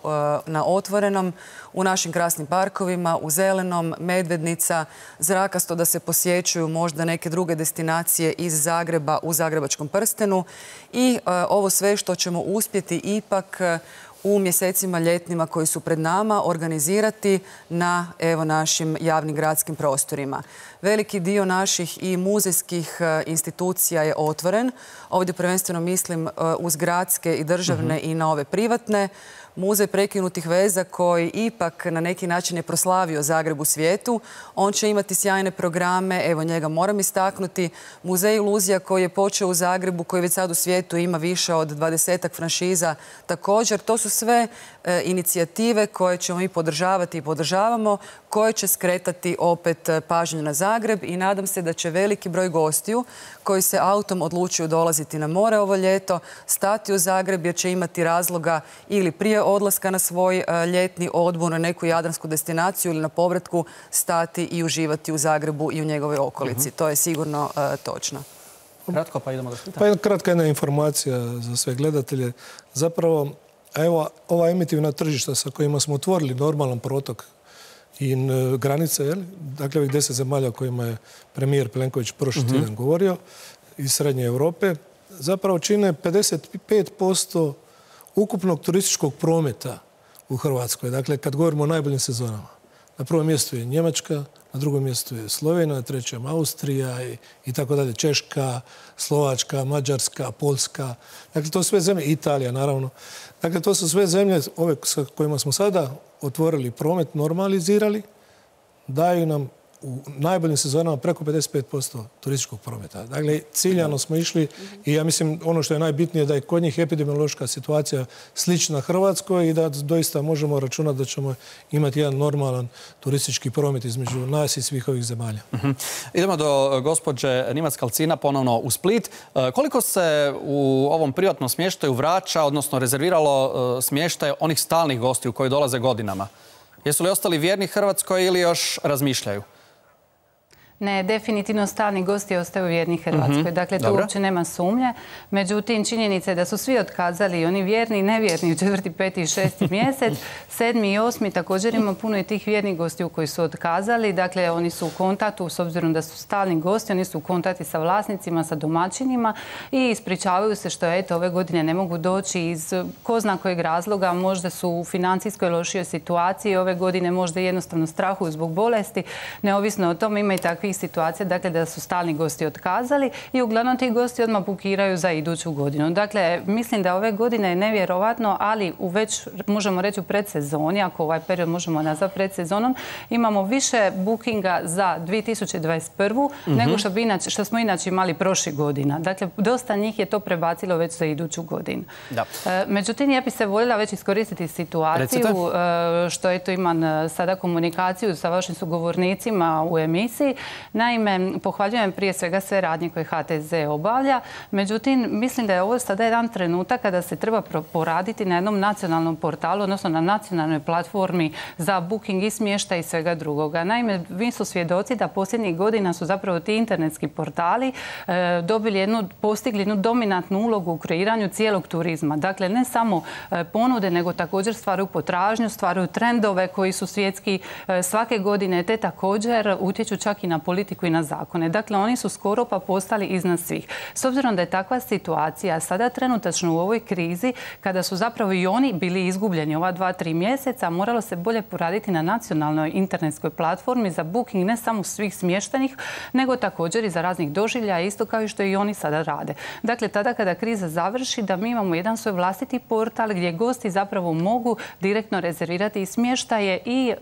na otvorenom, u našim krasnim parkovima, u Zelenom, Medvednica, Zrakasto, da se posjećuju možda neke druge destinacije iz Zagreba u Zagrebačkom prstenu i ovo sve što ćemo uspjeti ipak u mjesecima ljetnima koji su pred nama organizirati na evo našim javnim gradskim prostorima. Veliki dio naših i muzejskih institucija je otvoren. Ovdje prvenstveno mislim uz gradske i državne mm-hmm. i na ove privatne. Muzej prekinutih veza koji ipak na neki način je proslavio Zagreb u svijetu. On će imati sjajne programe, evo njega moram istaknuti. Muzej iluzija koji je počeo u Zagrebu, koji već sad u svijetu ima više od dvadesetak franšiza također. To su sve e, inicijative koje ćemo i podržavati i podržavamo, koje će skretati opet pažnju na Zagreb i nadam se da će veliki broj gostiju koji se autom odlučuju dolaziti na more ovo ljeto, stati u Zagreb jer će imati razloga ili prije odlaska na svoj ljetni odmor na neku jadransku destinaciju ili na povratku stati i uživati u Zagrebu i u njegovoj okolici. To je sigurno uh, točno. Kratko pa idemo do Splita. Pa jedna kratka jedna informacija za sve gledatelje. Zapravo, evo, ova emitivna tržišta sa kojima smo otvorili normalan protok i granice, jel? Dakle, ovih deset zemalja o kojima je premijer Plenković prošli uh-huh. tjedan govorio, iz Srednje Europe, zapravo čine pedeset pet posto ukupnog turističkog prometa u Hrvatskoj. Dakle, kad govorimo o najboljim sezonama. Na prvom mjestu je Njemačka, na drugom mjestu je Slovenija, na trećem Austrija i, i tako dalje. Češka, Slovačka, Mađarska, Poljska. Dakle, to su sve zemlje, Italija naravno. Dakle, to su sve zemlje ove sa kojima smo sada otvorili promet, normalizirali, daju nam u najboljim sezonama preko pedeset pet posto turističkog prometa. Dakle, ciljano smo išli i ja mislim ono što je najbitnije da je kod njih epidemiološka situacija slična Hrvatskoj i da doista možemo računati da ćemo imati jedan normalan turistički promet između nas i svih ovih zemalja. Uh-huh. Idemo do gospođe Nimac-Kalcina ponovno u Split. Koliko se u ovom privatnom smještaju vraća, odnosno rezerviralo smještaj onih stalnih gostiju koji dolaze godinama? Jesu li ostali vjerni Hrvatskoj ili još razmišljaju? Ne, definitivno stalni gosti ostaju vjerni Hrvatskoj. Mm-hmm. Dakle, to uopće nema sumnje. Međutim, činjenica je da su svi otkazali, oni vjerni i nevjerni u četvrti, peti i šesti mjesec. Sedmi i osmi također ima puno i tih vjernih gostiju koji su otkazali. Dakle, oni su u kontaktu, s obzirom da su stalni gosti, oni su u kontakti sa vlasnicima, sa domaćinima i ispričavaju se što eto, ove godine ne mogu doći iz ko zna kojeg razloga. Možda su u financijskoj lošijoj situaciji, ove godine možda jednostavno strahuju zbog bolesti. Neovisno o tome ima i takvi situacija, dakle da su stalni gosti otkazali i uglavnom ti gosti odmah bukiraju za iduću godinu. Dakle, mislim da ove godine je nevjerovatno, ali u već, možemo reći u predsezoni, ako ovaj period možemo nazvati predsezonom, imamo više bookinga za dvije tisuće dvadeset prvu Mm-hmm. nego što, bi inače, što smo inače imali prošle godina. Dakle, dosta njih je to prebacilo već za iduću godinu. Da. E, međutim, ja bi se voljela već iskoristiti situaciju e, što eto imam sada komunikaciju sa vašim sugovornicima u emisiji. Naime, pohvaljujem prije svega sve radnje koje H T Z obavlja. Međutim, mislim da je ovo sada jedan trenutak kada se treba poraditi na jednom nacionalnom portalu, odnosno na nacionalnoj platformi za booking i smještaj i svega drugoga. Naime, vi su svjedoci da posljednjih godina su zapravo ti internetski portali e, dobili jednu, postigli jednu dominantnu ulogu u kreiranju cijelog turizma. Dakle, ne samo e, ponude, nego također stvaraju potražnju, stvaraju trendove koji su svjetski e, svake godine, te također utječu čak i na politiku i na zakone. Dakle, oni su skoro pa postali iznad svih. S obzirom da je takva situacija sada trenutačno u ovoj krizi, kada su zapravo i oni bili izgubljeni ova dva, tri mjeseca, moralo se bolje poraditi na nacionalnoj internetskoj platformi za booking ne samo svih smještenih, nego također i za raznih doživljaja, isto kao i što i oni sada rade. Dakle, tada kada kriza završi, da mi imamo jedan svoj vlastiti portal gdje gosti zapravo mogu direktno rezervirati i smještaje i e,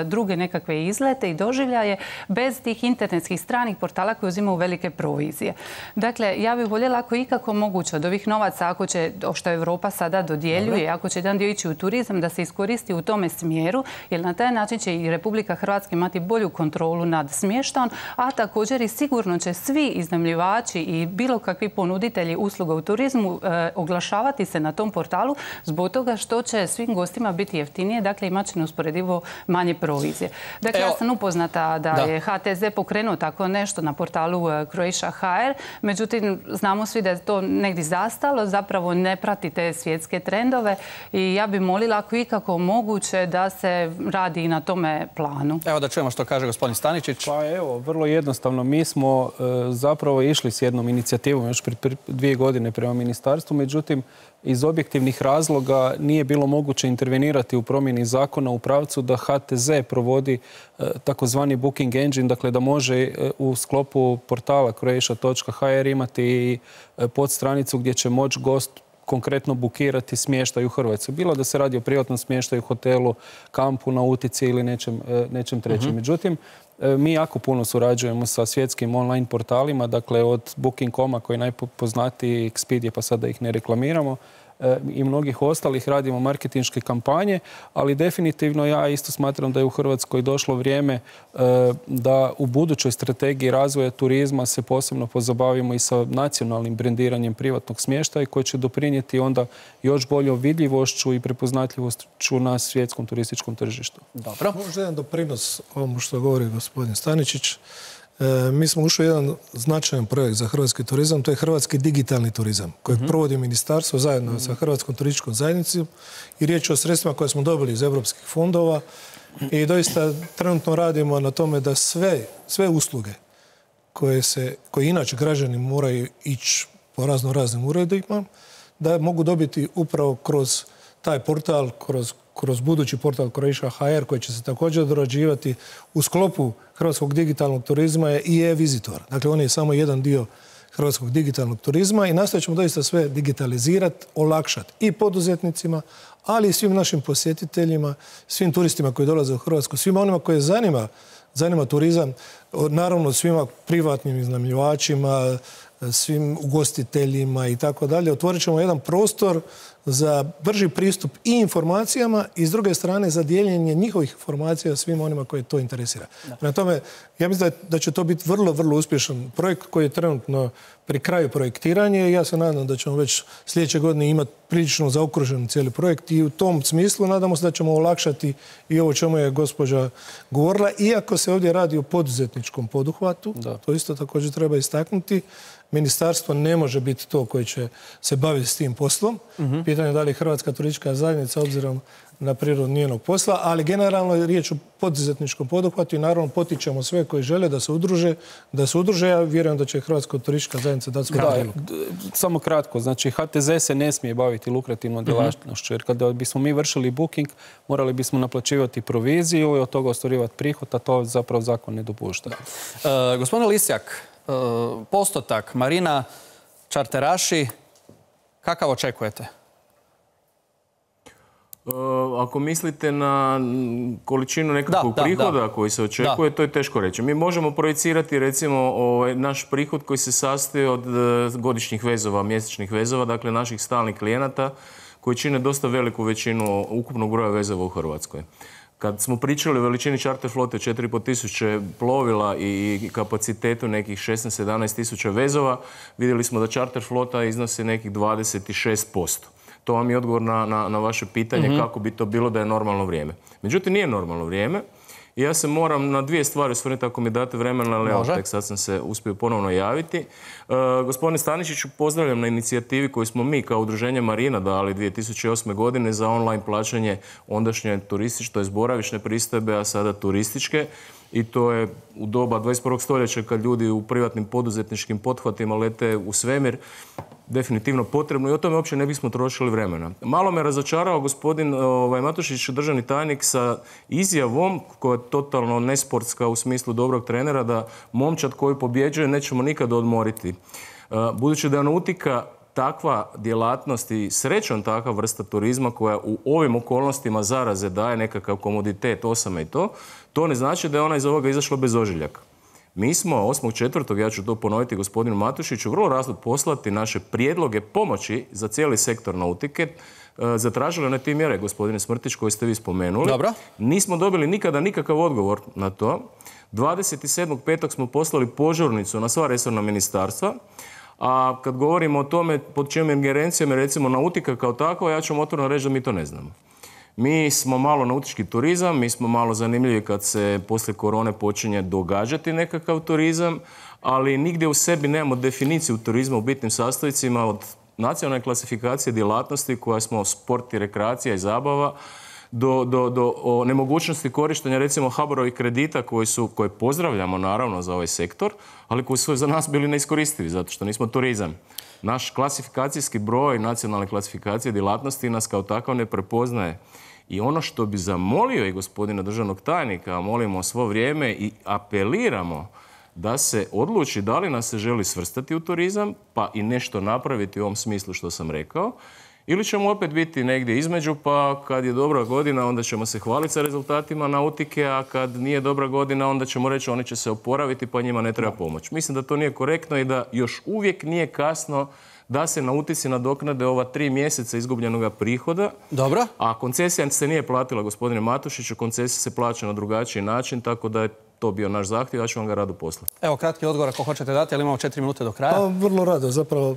druge nekakve izlete i doživljaje bez tih internetskih stranih portala koji uzimaju velike provizije. Dakle, ja bih voljela ako ikako moguće od ovih novaca, ako će, što Europa sada dodjeljuje, Dobre. ako će jedan dio ići u turizam, da se iskoristi u tome smjeru, jer na taj način će i Republika Hrvatska imati bolju kontrolu nad smještajem, a također i sigurno će svi iznajmljivači i bilo kakvi ponuditelji usluga u turizmu e, oglašavati se na tom portalu zbog toga što će svim gostima biti jeftinije, dakle imat će neusporedivo manje provizije. Dakle, Evo. ja sam upoznata da, da. je H T Z pokrenuo tako nešto na portalu Croatia H R. Međutim, znamo svi da je to negdje zastalo, zapravo ne prati te svjetske trendove i ja bi molila ako ikako moguće da se radi i na tome planu. Evo da čujemo što kaže gospodin Staničić. Pa evo, vrlo jednostavno. Mi smo e, zapravo išli s jednom inicijativom još prije dvije godine prema ministarstvu, međutim, iz objektivnih razloga nije bilo moguće intervenirati u promjeni zakona u pravcu da H T Z provodi e, takozvani booking engine, dakle da može e, u sklopu portala croatia točka h r imati i e, podstranicu gdje će moći gost konkretno bukirati smještaj u Hrvatskoj. Bilo da se radi o privatnom smještaju, hotelu, kampu, nautici ili nečem, e, nečem trećem. Uh-huh. Međutim, mi jako puno surađujemo sa svjetskim online portalima, dakle od booking dot com-a koji je najpoznatiji, Expedia, pa sad da ih ne reklamiramo, i mnogih ostalih radimo marketinške kampanje, ali definitivno ja isto smatram da je u Hrvatskoj došlo vrijeme da u budućoj strategiji razvoja turizma se posebno pozabavimo i sa nacionalnim brendiranjem privatnog smještaja koji će doprinijeti onda još boljom vidljivošću i prepoznatljivošću na svjetskom turističkom tržištu. Dobro. Možda jedan doprinos ovom što govori gospodin Staničić. E, mi smo ušli u jedan značajan projekt za hrvatski turizam, to je hrvatski digitalni turizam, kojeg mm-hmm. provodi ministarstvo zajedno mm-hmm. sa Hrvatskom turističkom zajednicom i riječ je o sredstvima koje smo dobili iz europskih fondova i doista trenutno radimo na tome da sve, sve usluge koje, se, koje inače građani moraju ići po razno raznim uredima, da mogu dobiti upravo kroz taj portal, kroz kroz budući portal Croatia H R koji će se također dorađivati u sklopu hrvatskog digitalnog turizma je i e-vizitor. Dakle, on je samo jedan dio hrvatskog digitalnog turizma i nastavit ćemo doista sve digitalizirati, olakšati i poduzetnicima, ali i svim našim posjetiteljima, svim turistima koji dolaze u Hrvatsku, svima onima koje zanima, zanima turizam, naravno svima privatnim iznajmljivačima, svim ugostiteljima i tako dalje. Otvorit ćemo jedan prostor za brži pristup i informacijama i s druge strane za dijeljenje njihovih informacija svima onima koje to interesira. Prema tome, ja mislim da, da će to biti vrlo, vrlo uspješan projekt koji je trenutno pri kraju projektiranja i ja se nadam da ćemo već sljedeće godine imati prilično zaokružen cijeli projekt i u tom smislu nadamo se da ćemo olakšati i ovo čemu je gospođa govorila, iako se ovdje radi o poduzetničkom poduhvatu, da. To isto također treba istaknuti. Ministarstvo ne može biti to koje će se baviti s tim poslom. Uh-huh. Pitanje je da li je Hrvatska turistička zajednica obzirom na prirodu njenog posla, ali generalno je riječ o poduzetničkom poduhvatu i naravno potičemo sve koji žele da se udruže, da se udruže. Ja vjerujem da će Hrvatska turistička zajednica dati svoj prilog. Samo kratko, znači H T Z se ne smije baviti lukrativnom djelatnošću, jer kada bismo mi vršili booking, morali bismo naplaćivati proviziju i od toga ostvarivati prihod, a to zapravo zakon ne dopušta. E, gospodine Lisjak, e, postotak marina, čarteraši, kakav očekujete? Ako mislite na količinu nekakvog da, prihoda da, da. koji se očekuje, da. to je teško reći. Mi možemo projicirati recimo ovaj, naš prihod koji se sastoji od godišnjih vezova, mjesečnih vezova, dakle naših stalnih klijenata koji čine dosta veliku većinu ukupnog broja vezova u Hrvatskoj. Kad smo pričali o veličini čarter flote četiri i pol tisuće plovila i kapacitetu nekih šesnaest sedamnaest tisuća vezova, vidjeli smo da čarter flota iznosi nekih dvadeset šest posto. To vam je odgovor na, na, na vaše pitanje mm-hmm. kako bi to bilo da je normalno vrijeme. Međutim, nije normalno vrijeme i ja se moram na dvije stvari osvrnuti ako mi date vremena, ali evo, tek sad sam se uspio ponovno javiti. E, gospodine Staničiću, pozdravljam na inicijativi koju smo mi kao udruženje Marina dali dvije tisuće osme godine za online plaćanje ondašnje turističke, to je boravišne pristojbe, a sada turističke. I to je u doba dvadeset prvog stoljeća kad ljudi u privatnim poduzetničkim pothvatima lete u svemir definitivno potrebno i o tome uopće ne bismo trošili vremena. Malo me razočarao gospodin ovaj, Matušić, državni tajnik, sa izjavom koja je totalno nesportska u smislu dobrog trenera da momčad koji pobjeđuje nećemo nikad odmoriti. Budući da je nautika takva djelatnost i srećom takva vrsta turizma koja u ovim okolnostima zaraze daje nekakav komoditet, osame i to, to ne znači da je ona iz ovoga izašla bez ožiljaka. Mi smo osmog četvrtog, ja ću to ponoviti gospodinu Matušiću, vrlo razlog poslati naše prijedloge pomoći za cijeli sektor nautike. Zatražili one te mjere, gospodine Smrtić, koje ste vi spomenuli. Dobro. Nismo dobili nikada nikakav odgovor na to. dvadeset sedmog petog smo poslali požurnicu na sva resorna ministarstva. A kad govorimo o tome pod čijom ingerencijom je recimo nautika kao takva, ja ću vam otvoreno reći da mi to ne znamo. Mi smo malo nautički turizam, mi smo malo zanimljivi kad se poslije korone počinje događati nekakav turizam, ali nigdje u sebi nemamo definiciju turizma u bitnim sastojcima od nacionalne klasifikacije djelatnosti koja smo sport i rekreacija i zabava, do, do, do o nemogućnosti korištenja recimo H B O R-ovih kredita koji su, koje pozdravljamo naravno za ovaj sektor, ali koji su za nas bili neiskoristivi zato što nismo turizam. Naš klasifikacijski broj nacionalne klasifikacije djelatnosti nas kao takav ne prepoznaje. I ono što bi zamolio i gospodina državnog tajnika, a molimo svo vrijeme i apeliramo da se odluči da li nas se želi svrstati u turizam, pa i nešto napraviti u ovom smislu što sam rekao, ili ćemo opet biti negdje između, pa kad je dobra godina onda ćemo se hvaliti sa rezultatima nautike, a kad nije dobra godina onda ćemo reći oni će se oporaviti pa njima ne treba pomoć. Mislim da to nije korektno i da još uvijek nije kasno da se nautici nadoknade ova tri mjeseca izgubljenog prihoda. Dobro. A koncesija se nije platila, gospodine Matušiću, koncesija se plaća na drugačiji način, tako da je to bio naš zahtjev, ja ću vam ga rado poslati. Evo, kratki odgovor ako hoćete dati, ali imamo četiri minute do kraja. Pa, vrlo rado, zapravo.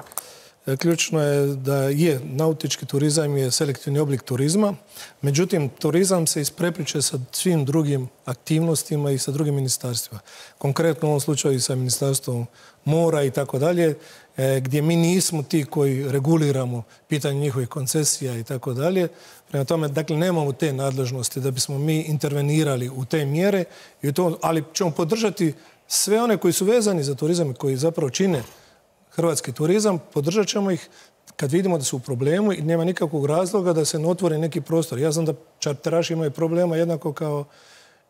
Ključno je da je nautički turizam je selektivni oblik turizma, međutim turizam se isprepliče sa svim drugim aktivnostima i sa drugim ministarstvima. Konkretno u ovom slučaju i sa ministarstvom mora i tako dalje, gdje mi nismo ti koji reguliramo pitanje njihovih koncesija i tako dalje. Prema tome, dakle, nemamo te nadležnosti da bismo mi intervenirali u te mjere, i to, ali ćemo podržati sve one koji su vezani za turizam i koji zapravo čine hrvatski turizam, podržat ćemo ih kad vidimo da su u problemu i nema nikakvog razloga da se ne otvori neki prostor. Ja znam da čarteraši imaju problema jednako kao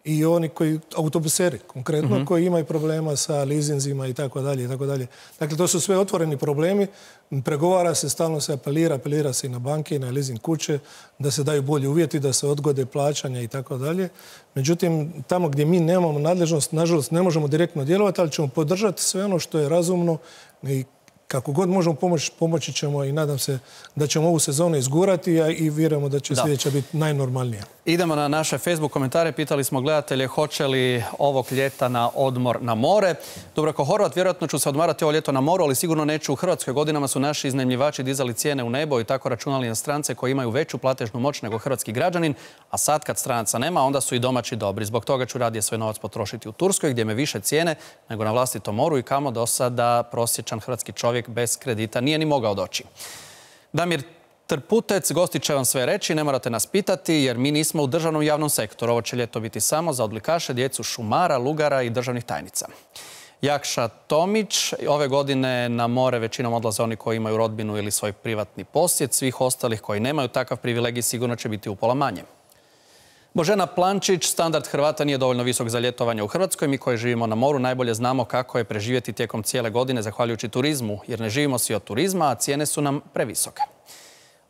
i oni koji, autobuseri konkretno, mm-hmm. koji imaju problema sa lizinzima i tako dalje i tako dalje. Dakle, to su sve otvoreni problemi. Pregovara se, stalno se apelira, apelira se i na banke i na leasing kuće da se daju bolji uvjeti, da se odgode plaćanja i tako dalje. Međutim, tamo gdje mi nemamo nadležnost, nažalost, ne možemo direktno djelovati, ali ćemo podržati sve ono što je razumno i kako god možemo pomoći, pomoći ćemo i nadam se da ćemo ovu sezonu izgurati i vjerujemo da će da. sljedeća biti najnormalnija. Idemo na naše Facebook komentare. Pitali smo gledatelje hoće li ovog ljeta na odmor na more. Dubravko Horvat, vjerojatno ću se odmarati ovo ljeto na moru, ali sigurno neću u Hrvatskoj. Godinama su naši iznajmljivači dizali cijene u nebo i tako računali na strance koji imaju veću platežnu moć nego hrvatski građanin, a sad kad stranaca nema, onda su i domaći dobri. Zbog toga ću radije svoj novac potrošiti u Turskoj gdje me više cijene nego na vlastitom moru i kamo do sada prosječan hrvatski čovjek bez kredita nije ni mogao doći. Damir Trputec, gosti će vam sve reći, ne morate nas pitati jer mi nismo u državnom javnom sektoru. Ovo će ljeto biti samo za odlikaše, djecu šumara, lugara i državnih tajnica. Jakša Tomić, ove godine na more većinom odlaze oni koji imaju rodbinu ili svoj privatni posjed. Svih ostalih koji nemaju takav privilegij sigurno će biti upola manje. Božena Plančić, standard Hrvata nije dovoljno visok za ljetovanje u Hrvatskoj. Mi koji živimo na moru najbolje znamo kako je preživjeti tijekom cijele godine zahvaljujući turizmu, jer ne živimo svi od turizma, a cijene su nam previsoke.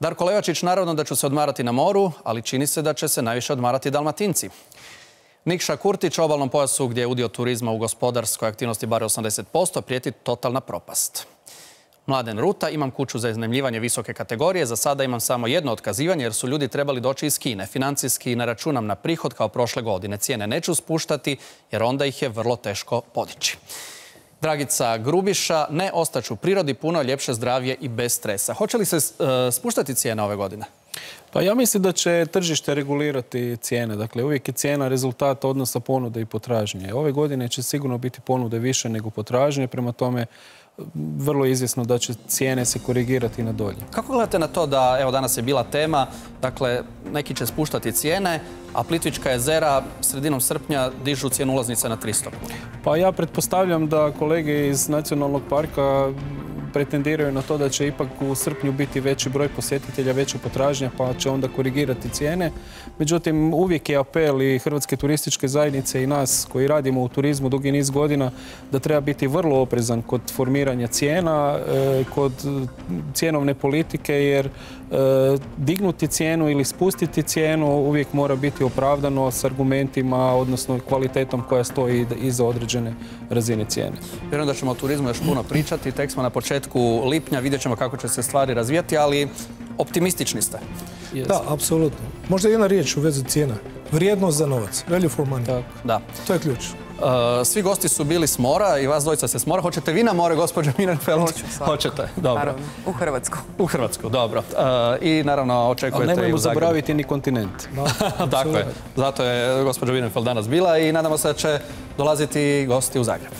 Darko Levačić, naravno da ću se odmarati na moru, ali čini se da će se najviše odmarati Dalmatinci. Nikša Kurtić, obalnom pojasu gdje je udio turizma u gospodarskoj aktivnosti bar osamdeset posto, prijeti totalna propast. Mladen Ruta, imam kuću za iznajmljivanje visoke kategorije, za sada imam samo jedno otkazivanje jer su ljudi trebali doći iz Kine. Financijski ne računam na prihod kao prošle godine. Cijene neću spuštati jer onda ih je vrlo teško podići. Dragica Grubiša, ne, ostaću u prirodi, puno ljepše zdravlje i bez stresa. Hoće li se uh, spuštati cijene ove godine? Pa ja mislim da će tržište regulirati cijene. Dakle, uvijek je cijena rezultat odnosa ponude i potražnje. Ove godine će sigurno biti ponude više nego potražnje, prema tome vrlo izvjesno da će cijene se korigirati na dolje. Kako gledate na to da, evo danas je bila tema, dakle, neki će spuštati cijene, a Plitvička jezera sredinom srpnja dižu cijenu ulaznica na tristo? Pa ja pretpostavljam da kolege iz Nacionalnog parka pretendiraju na to da će ipak u srpnju biti veći broj posjetitelja, veća potražnja, pa će onda korigirati cijene. Međutim, uvijek je apel i Hrvatske turističke zajednice i nas koji radimo u turizmu dugi niz godina da treba biti vrlo oprezan kod formiranja cijena, kod cjenovne politike, jer dignuti cijenu ili spustiti cijenu uvijek mora biti opravdano s argumentima, odnosno kvalitetom koja stoji iza određene razine cijene. Vjerujem da ćemo o turizmu još puno pričati. Tek smo na početku lipnja, vidjet ćemo kako će se stvari razvijati, ali optimistični ste. Yes. Da, apsolutno. Možda jedna riječ u vezi cijena. Vrijednost za novac. Value for money. Tak. Da. To je ključ. Svi gosti su bili s mora i vas dvojica se s mora. Hoćete vi na more, gospođo Minenfeld? Hoću, svakako. Hoćete, dobro. Naravno, u Hrvatsku. U Hrvatsku, dobro. I naravno očekujete i u Zagrebu. Ali nemojmo zaboraviti ni kontinent. Tako je. Zato je gospođa Minenfeld danas bila i nadamo se da će dolaziti gosti u Zagreb.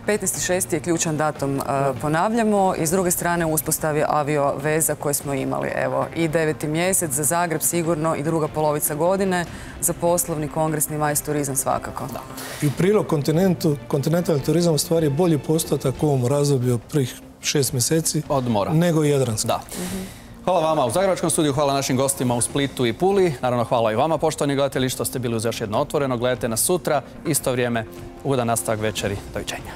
petnaesti šesti je ključan datum, ponavljamo, i s druge strane uspostavi avio veza koje smo imali. Evo, i deveti mjesec za Zagreb sigurno i druga polovica godine, za poslovni, kongresni, majs turizam svakako. I u prilog kontinentu, kontinentalni turizam u stvari je bolji postotak u ovom razdoblju prvih šest mjeseci od mora nego jadranski. Da. Hvala vama u Zagrebačkom studiju, hvala našim gostima u Splitu i Puli. Naravno, hvala i vama, poštovani gledatelji, što ste bili uz još jedno Otvoreno. Gledajte nas sutra, isto vrijeme, ugodan nastavak večeri. Doviđenja.